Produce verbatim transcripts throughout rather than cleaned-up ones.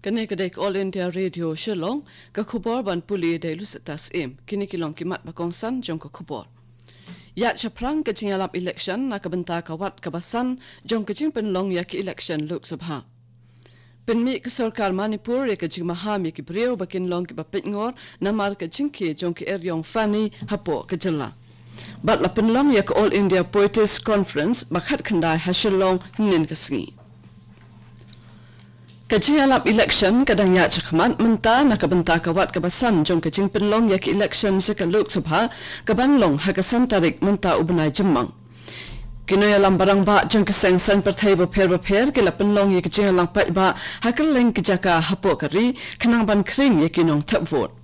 Kane ka dei ka All India Radio Shillong, ka khubor ban pule da i Lucetta Syiem. Kine ki long ki mat ba kongsan jong ka khubor. Ïaid shaphrang ka jingïalap election na ka bynta ka wat kaba san jong ka jingpynlong ïa ka election Lok Sabha. Pynmih ka sorkar Manipur ïa ka jingmaham ïa ki briew ba kin long kiba peit ngor namar ka jingkhie jong ka eriong Fani hapoh ka jylla. Bad la pynlong ïa ka All India Poetry Conference ba khatkhyndai ha Shillong hynnin ka sngi. Ka jingïalap election ka dang ïaid shakhmat mynta na ka bynta ka wat kaba san jong ka jingpynlong ïa ka election sha ka Lok Sabha, kaban long ha ka san tarik mynta u bnai Jymmang. Ki nongïalam barangbah jong ki seng saiñ pyrthei bapher bapher ki la pynlong ïa ka jingïalang paidbah ha kylleng ki jaka hapoh ka ri, khnang ban khring ïa ki nongthep vote.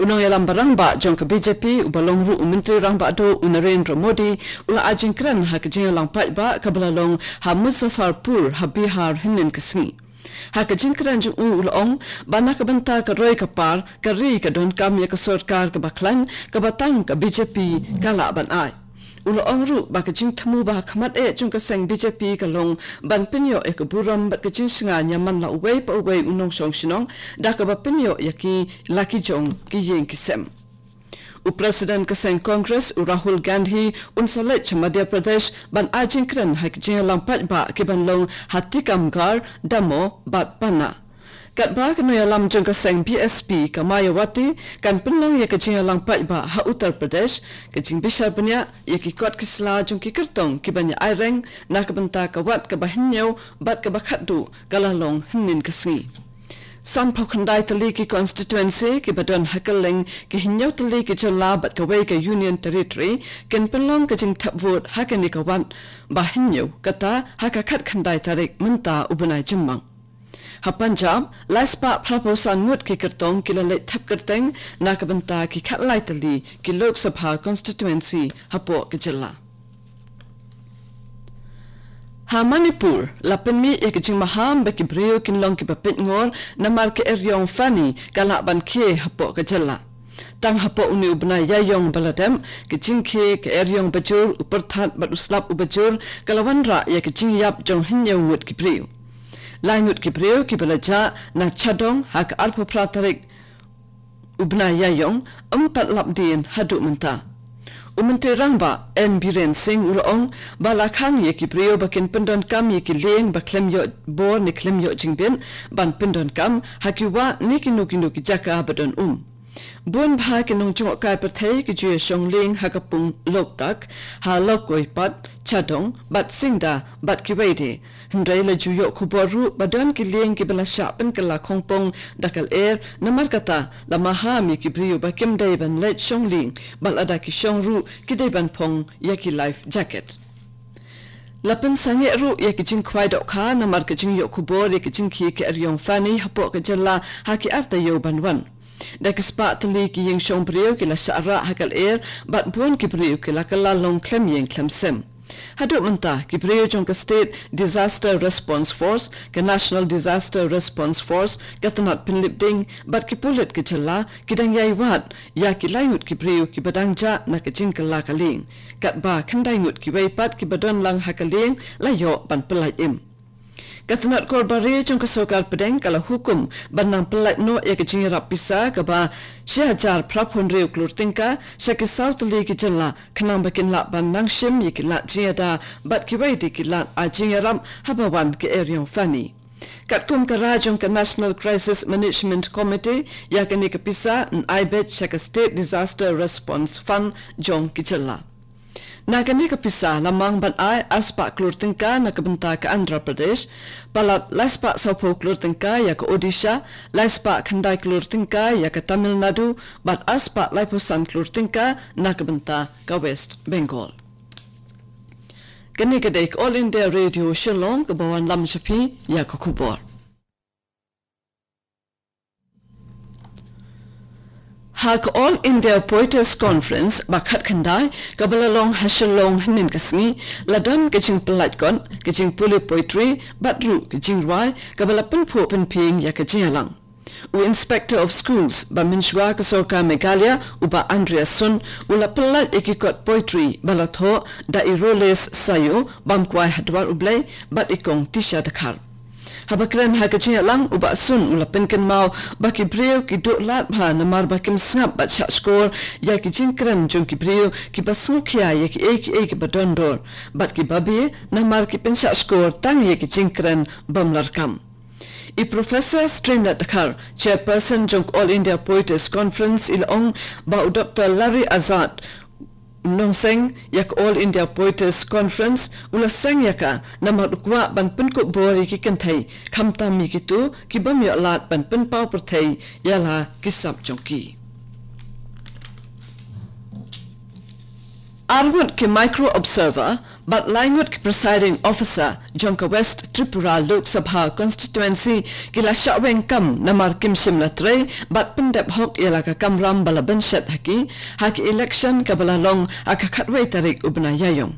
U nongïalam barangbah jong ka B J P, uba long ruh u Myntri Rangbah Duh, u Narendra Modi, u la ai jingkren ha ka jingïalang paidbah kaba la long ha Muzaffarpur ha Bihar hynnin ka sngi. Ha ka jingkren jong u, u la ong ba na ka bynta ka roi ka par, ka ri ka donkam ïa ka sorkar kaba khlaiñ, kaba tang ka B J P ka lah ban ai. U la ong ruh ba ka jingthmu ba ha khmat eh jong ka seng B J P ka long ban pynïoh ïa ka burom bad ka jingshngaiñ ïa man la uwei pa uwei u nongshong shnong, da kaba pynïoh ïa ki la ki jong ki ïing ki sem. U President ka seng Congress, u Rahul Gandhi, un sa leit sha Madhya Pradesh ban ai jingkren ha ki jingïalang paidbah kiban long ha Tikamgarh, Damoh bad Panna. Katba ka nongïalam jong ka seng B S P ka Mayawati kan pynlong ïa ka jingïalang paidbah ha Uttar Pradesh, ka jingbishar bniah ïa ki kot ki sla jong ki kyrtong kiban ïa aireng na ka bynta ka wat kaba hynñiew bad kaba khatduh ka la long hynnin ka sngi. Sanphew khyndai tylli ki constituency kiba don ha kylleng ki hynñiew tylli ki jylla bad kawei ka Union Territory kin pynlong ka jingthep vote ha kane ka wat ba hynñiew, kata ha ka khatkhyndai tarik mynta u bnai Jymmang. Ha Punjab, lai spah phraphew san ngut ki kyrtong ki la leit thep kyrteng na ka bynta ki khatlai tylli ki Lok Sabha constituency hapoh ka jylla. Ha Manipur, la pynmih ïa ka jingmaham ba ki briew kin long kiba peit ngor namar ka eriong Fani ka lah ban khie hapoh ka jylla. Tang hapoh une u bnai Ïaïong ba la dep, ka jingkhie ka eriong bajur, u pyrthat bad u slap uba jur ka la wanrah ïa ka jingïap jong hynñiew ngut ki briew. Lai ngut ki briew kiba la jah na Chadong ha ka arphew phra tarik u bnai Ïaïong ym pat lap dien haduh mynta. U Myntri Rangbah N Biren Singh u la ong ba la khang ïa ki briew ba kin pyndonkam ïa ki lieng ba khlem ïoh bor ne khlem ïoh jingbit ban pyndonkam ha ki wah ne kino kino ki jaka ba don um. Bun bha ki nongjngohkai pyrthei ki ju ïa shong lieng ha ka pung Loktak, ha Lokoi pat, Chadong bad Singda bad kiwei de. Hynrei la ju ïoh khubor ruh ba don ki lieng kiba la shah pynkylla khongpong da ka lyer, namar kata la maham ïa ki briew ba kim dei ban leit shong lieng, bad lada ki shong ruh ki dei ban phong ïa ki life jacket. La pynsangeh ruh ïa ki jingkhwai dohkha namar ka jingïoh khubor ïa ka jingkhie ka eriong Fani hapoh ka jylla ha ki ar taïew ban wan. Da ki spah tylli ki ïing shong briew ki la shah rah ha ka lyer, bad bun ki briew ki la kylla long khlem ïing khlem sem. Haduh mynta, ki briew jong ka State Disaster Response Force, ka National Disaster Response Force, ka tnat pynlip ding bad ki pulit ka jylla ki dang ïai wad ïa ki lai ngut ki briew kiba dang jah na ka jingkylla ka lieng. Katba khyndai ngut kiwei pat kiba don lang ha ka lieng la ïoh ban pyllait im. Ka tnat korbari jong ka sorkar pdeng ka la hukum ban nang pyllait noh ïa ka jingïarap pisa kaba shi hajar phraphew hynriew klur tyngka sha ki saw tylli ki jylla, khnang ba kin lah ban nang shim ïa ki lad jingïada bad kiwei de ki lad ai jingïarap haba wan ka eriong Fani. Katkum ka rai jong ka National Crisis Management Committee, ïa kane ka pisa yn ai beit sha ka State Disaster Response Fund jong ki jylla. Na kane ka pisa la mang ban ai ar spah klur tyngka na ka bynta ka Andhra Pradesh, palat lai spah sawphew klur tyngka ïa ka Odisha, lai spah khyndai klur tyngka ïa ka Tamil Nadu, bad ar spah laiphew san klur tyngka na ka bynta ka West Bengal. Kane ka dei ka All India Radio Shillong kaba wanlam sha phi ïa ka khubor. Ha ka All India Poeters Conference ba khatkhyndai kaba la long ha Shillong hynnin ka sngi, la don ka jingpyllait kot, ka jingpule poetry bad ruh ka jingrwai kaba la pynphuh pynphieng ïa ka jingïalang. U Inspector of Schools ba mynshuwa ka sorkar Meghalaya, u Bah Andreas Sun, u la pyllait ïa ki kot poetry ba la thoh da i Roles Sayo, Bamkwai Hadwar U Blei, bad i Kong Tisha Dkhar. Haba kren ha ka jingïalang, u Bah Sun u la pynkynmaw ba ki briew ki duh lad bha namar ba kim sngap bad shah shkor ïa ki jingkren jong ki briew kiba sngewkhia ïa kiei kiei kiba don dor, bad kiba beh namar ki pynshah shkor tang ïa ki jingkren bym lah kam. I Professor Streamlet Dkhar, Chairperson jong All India Poeters Conference, i la ong ba u Doctor Larry Azad, u nongseng ïa ka All India Poeters Conference, u la seng ïa ka namar u kwah ban pynkup bor ïa ki kynthei, khamtam ïa kito ki bym ïoh lad ban pynpaw pyrthei ïa la ki sap jong ki. Ar ngut ki Micro Observer bad lai ngut ki Presiding Officer jong ka West Tripura Lok Sabha Constituency ki la shah weng kam namar kim shym la trei bad pyndep hok ïa la ka kamram ba la bynshet ha ki, ha ka election kaba la long ha ka khatwei tarik u bnai Ïaïong.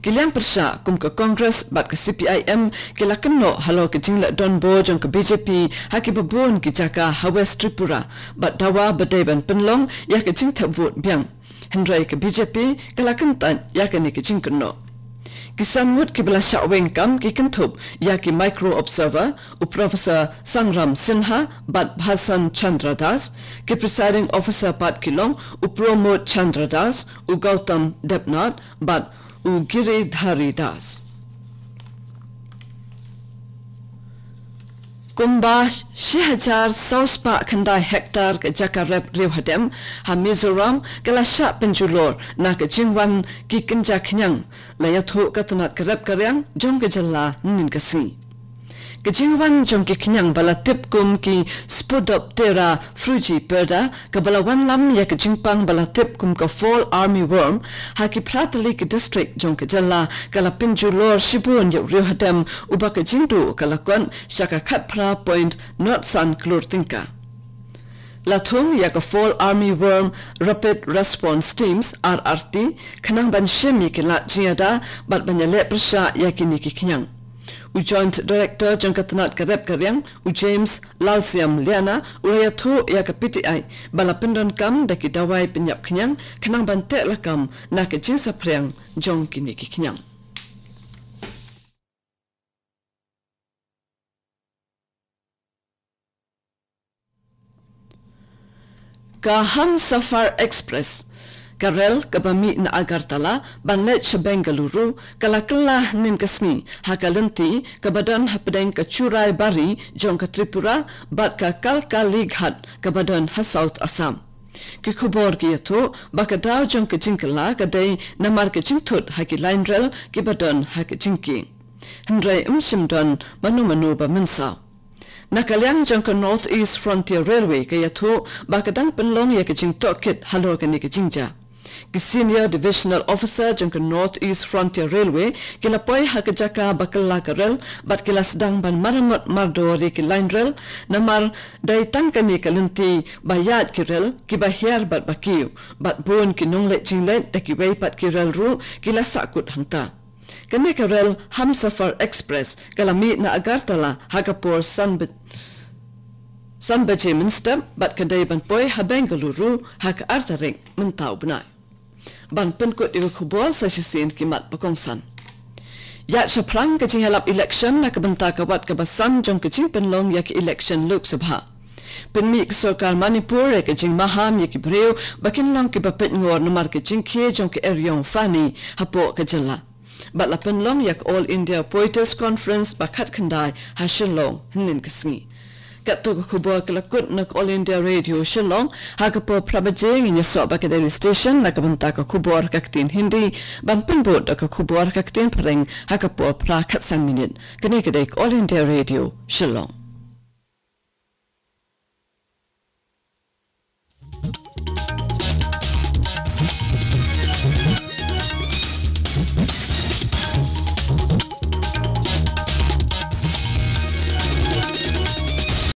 Ki liang pyrshah kum ka Congress bad ka C P I M ki la kynnoh halor ka jingleh donbor jong ka B J P ha kiba bun ki jaka ha West Tripura, bad dawa ba dei ban pynlong ïa ka jingthep vote biang. Hynrei ka B J P ka la kyntait ïa kane ka jingkynnoh. Ki san ngut kiba la shah weng kam ki kynthup ïa ki Micro Observer, u Professor Sangram Sinha bad Bhasan Chandra Das, ki Presiding Officer pat ki long u Pramod Chandra Das, u Gautam Debnath bad u Giridhari Das. Kumba shi hajar saw spah khyndai hektar ka jaka rep riewhadem ha Mizoram ka la shah pynjulor na ka jingwan ki kynja khñiang, la ïathuh ka tnat ka rep ka riang jong ka jylla hynnin ka sngi. Ka jingwan jong ki khñiang ba la tip kum ki Spodoptera frugiperda, kaba la wanlam ïa ka jingpang ba la tip kum ka fall army worm, ha ki phra tylli ki district jong ka jylla ka la pynjulor shibun ïa u riewhadem uba ka jingduh ka la kot sha ka khatphra point nod san klur tyngka. La thung ïa ka Fall Army Worm Rapid Response Teams, R R T, khnang ban shim ïa ki lad jingïada bad ban ïaleh pyrshah ïa kine ki khñiang. U Joint Director jong ka tnat ka rep ka riang, u James Lalsiam Liana, u la ïathuh ïa ka P T I ba la pyndonkam da ki dawai pynïap khñiang khnang ban teh lakam na ka jingsaphriang jong kine ki khñiang. Ka Hamsafar Express, ka rel kaba mih na Agartala ban leit sha Bengaluru, ka la kylla hynnin ka sngi ha ka lynti kaba don hapdeng ka Churaibari jong ka Tripura bad ka Kalkalighat kaba don ha South Assam. Ki khubor ki ïathuh ba ka daw jong ka jingkylla ka dei namar ka jingthut ha ki line rel kiba don ha ka jingkieng. Hynrei ym shym don mano mano ba mynsaw. Na ka liang jong ka North East Frontier Railway ka ïathuh ba ka dang pynlong ïa ka jingtohkit halor kane ka jingjia. Ki Senior Divisional Officer jong ka North East Frontier Railway ki la poi ha ka jaka ba kylla ka rel bad ki la sdang ban maramot mardor ïa ki line rel, namar dei tang kane ka lynti ba ïaid ki rel kiba hiar bad ba kiew, bad bun ki nongleit jingleit da kiwei pat ki rel ruh ki la sahkut hangta. Kane ka rel Hamsafar Express ka la mih na Agartala ha ka por san ba-, san baje mynstep bad ka dei ban poi ha Bengaluru ha ka ar tarik mynta u bnai. Ban pynkut ïa ka khubor sa shisien ki mat ba kongsan. Ïaid shaphrang ka jingïalap election na ka bynta ka wat kaba san jong ka jingpynlong ïa ka election Lok Sabha. Pynmih ka sorkar Manipur ïa ka jingmaham ïa ki briew ba kin long kiba peit ngor namar ka jingkhie jong ka eriong Fani hapoh ka jylla. Bad la pynlong ïa ka All India Poeters Conference ba khatkhyndai ha Shillong hynnin ka sngi. Katto ka khubor ka la kut na ka All India Radio Shillong. Ha ka por phra baje ngin ïasoh bad ka Delhi Station na ka bynta ka khubor ha ka ktien Hindi, ban pynbud da ka khubor ha ka ktien Phareng ha ka por phra khatsan minit. Kane ka dei ka All India Radio Shillong.